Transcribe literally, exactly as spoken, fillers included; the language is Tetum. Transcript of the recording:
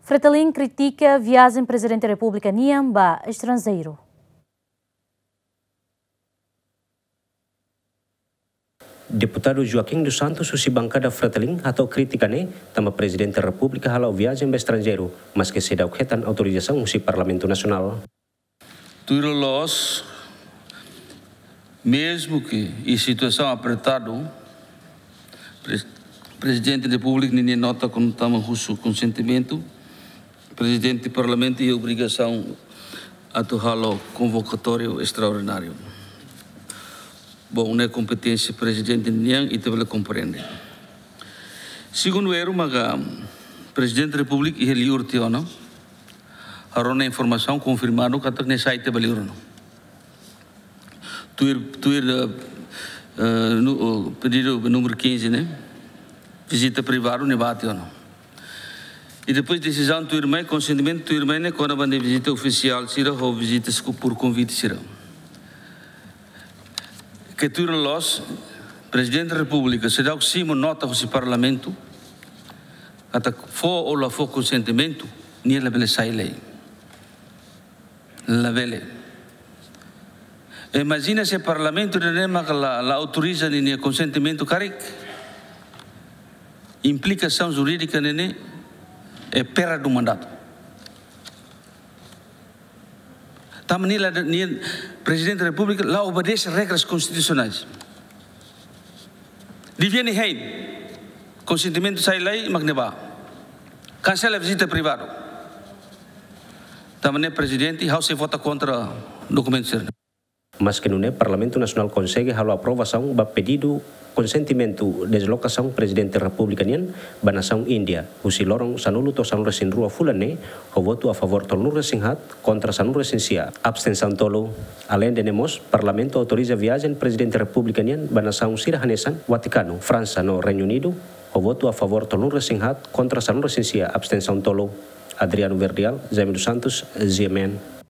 Fretilin kritika viajen Prezidente Repúblika nian ba estranjeiru. Deputadu Joaquim dos Santos husi bankada Fretilin hato'o krítika ne'e tanba Prezidente Repúblika hala'o viajen ba estranjeiru, maske seidauk hetan autorizasaun husi Parlamentu Nasionál. Tuir loloos, mezmu ke iha situasaun apertadu, Pre-, Prezidente Repúblika ninia nota kuandu tama husu konsentimentu, Prezidente Parlamentu iha obrigasaun atu halo konvokatóriu estraordináriu. Bom, ne'e kompeténsia Prezidente nian, ita bele komprende. Segundu erru maka Prezidente Repúblika iha liur tiha ona, rona informasaun konfirmadu katak nia sai tiha ba liur ona. Tuir, tuir, eh, eh, nu-, oh, pedidu númeru quinze ne'e, vizita privadu nia bá tiha ona. I depois desizaun tuirmai, konsentimentu tuirmai ne'e kona-ba nia vizita ofisiál sira ho vizita sku-, por konvite sira. Ke tuir loloos, Prezidente Repúblika seidauk simu nota husi Parlamentu, katak fó ou la fó konsentimentu, nia labele sai lai. Labele. Imajina se Parlamentu ida-ne'e maka la, la autoriza ninia konsentimentu karik. Implikasaun jurídika ne'e ne'e é perda do mandato. Tanba nia la, nia Prezidente Repúblika la obedese regras konstitusionais. Devia nia hein. Konsentimentu sai lai, mak nia bá. Kansela vizita privadu. Tanba ne'e Prezidente, ha'u sei vota kontra dokumentu sira-ne'e. Maske nune'e Parlamentu Nasionál konsege halo aprovasaun ba pedidu konsentimentu deslokasaun Prezidente Repúblika nian ba nasaun Índia, husi loron sanulu to'o sanulu-resin-rua fulan ne'e, ho votu a favór tolunulu-resin-haat, kontra sanulu-resin-sia, abstensaun tolu. Aleinde ne'e mós, Parlamentu autoriza viajen Prezidente Repúblika nian ba nasaun sira hanesan Vatikanu, Fransa no Reinu Unidu, ho votu a favór tolunulu-resin-haat, kontra sanulu-resin-sia, abstensaun tolu. Adriano Verdial, Jaime dos Santos, G M N.